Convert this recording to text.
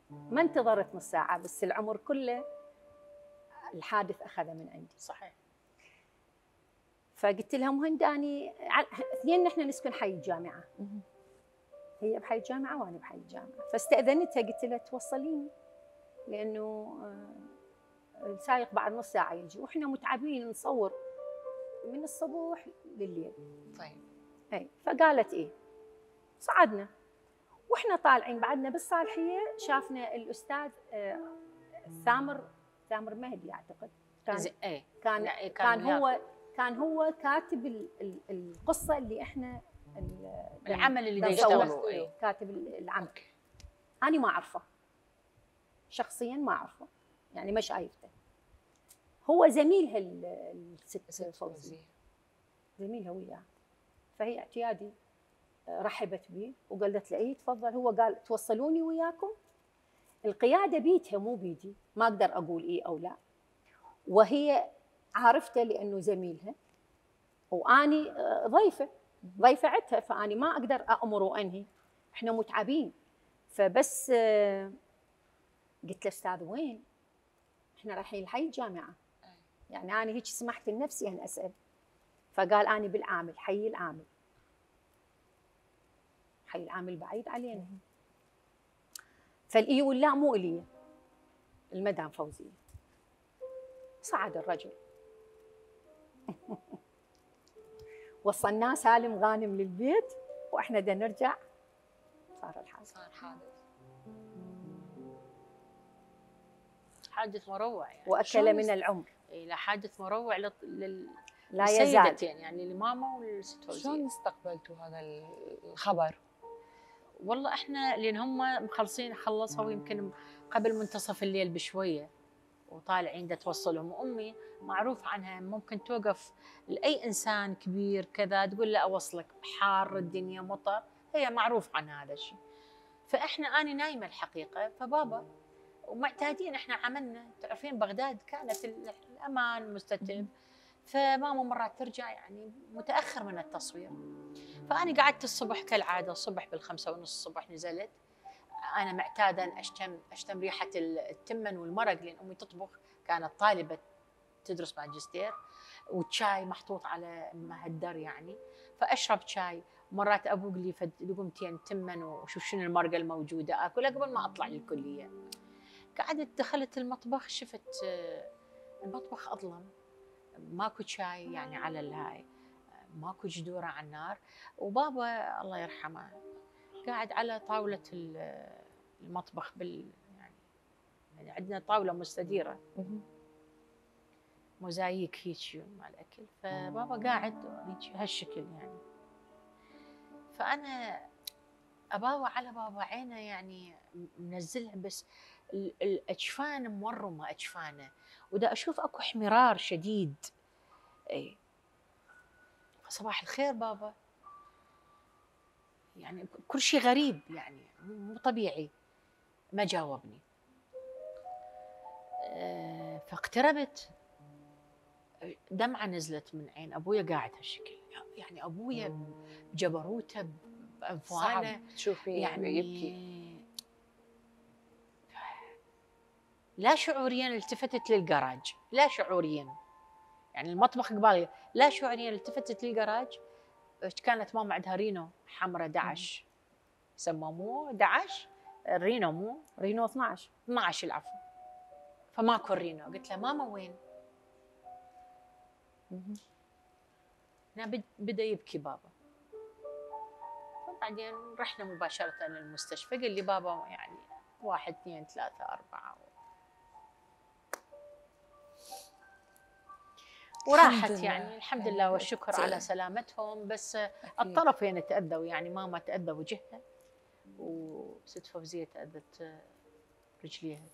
ما انتظرت نص ساعة، بس العمر كله الحادث أخذه من عندي. صحيح. فقلت لها مهند أني اثنين نحن نسكن حي الجامعة، هي بحي الجامعة وأنا بحي الجامعة، فاستأذنتها قلت لها توصليني لأنه السايق بعد نص ساعة يجي وإحنا متعبين نصور من الصبح لليل. طيب. أي فقالت إيه. صعدنا وإحنا طالعين بعدنا بالصالحية شافنا الأستاذ ثامر مهدي أعتقد كان هو كاتب القصة اللي إحنا العمل اللي يشتغلوا، كاتب العمل. أنا ما أعرفه شخصياً، ما أعرفه يعني ما شايفته. هو زميلها الست فوزية، زميلها وياه. فهي اعتيادي رحبت بي وقالت له اي تفضل. هو قال توصلوني وياكم. القيادة بيتها مو بيدي، ما أقدر أقول إيه أو لا، وهي عارفته لأنه زميلها وأني ضيفة عندها، فأني ما أقدر أأمر وأنهي، إحنا متعبين. فبس قلت له أستاذ وين؟ إحنا رايحين الحي الجامعة. يعني أنا هيك سمحت لنفسي أن أسأل. فقال أنا بالعامل، حي العامل. حي العامل بعيد علينا. فالإي واللا مو إلي، المدام فوزية. صعد الرجل وصلناه سالم غانم للبيت، وإحنا دا نرجع صار الحادث. حادث مروع يعني، وأكل من العمر. لا حادث مروع لا يزال يعني لماما والست فوزية. شلون استقبلتوا هذا الخبر؟ والله احنا لان هم خلصوا يمكن قبل منتصف الليل بشويه، وطالعين دا توصلهم. وامي معروف عنها ممكن توقف لاي انسان كبير كذا تقول له اوصلك، حار الدنيا مطر، هي معروف عن هذا الشيء. فاحنا اني نايمه الحقيقه، فبابا ومعتادين احنا عملنا، تعرفين بغداد كانت الامان مستتب، فماما مرات ترجع يعني متاخر من التصوير. فأنا قعدت الصبح كالعادة، الصبح بالخمسة ونص الصبح نزلت. أنا معتادة أن أشتم ريحة التمن والمرق، لأن أمي تطبخ، كانت طالبة تدرس ماجستير، والشاي محطوط على مهدر يعني، فأشرب شاي. مرات أبوق لي لقمتين تمن وشوف شنو المرقة الموجودة آكلها قبل ما أطلع للكلية. قعدت دخلت المطبخ، شفت المطبخ أظلم، ماكو شاي يعني على الهاي، ماكو جدوره على النار. وبابا الله يرحمه قاعد على طاوله المطبخ يعني عندنا طاوله مستديره موزاييك هيك مع الاكل، فبابا قاعد هيك هالشكل يعني. فانا اباوع على بابا، عينه يعني منزلها، بس الاجفان مورمه اجفانه، ودا اشوف اكو احمرار شديد. اي صباح الخير بابا، يعني كل شيء غريب يعني مو طبيعي. ما جاوبني. فاقتربت، دمعة نزلت من عين أبويا قاعد هالشكل، يعني أبويا بجبروته بأنفوانه تشوفي يعني يبكي. لا شعوريا التفتت للجراج، لا شعوريا يعني المطبخ قبالي، لا شعوريا التفتت للجراج. كانت ماما عندها رينو حمراء 11، يسموه مو 11 الرينو، مو رينو 12 العفو. فماكو الرينو. قلت له ماما وين؟ بدا يبكي بابا. فبعدين رحنا مباشرة للمستشفى. قال لي بابا يعني 1 2 3 4 وراحت يعني الحمد لله والشكر على سلامتهم. بس الطرفين تأذوا، يعني ماما تأذى وجهها وست فوزية تأذت رجليها.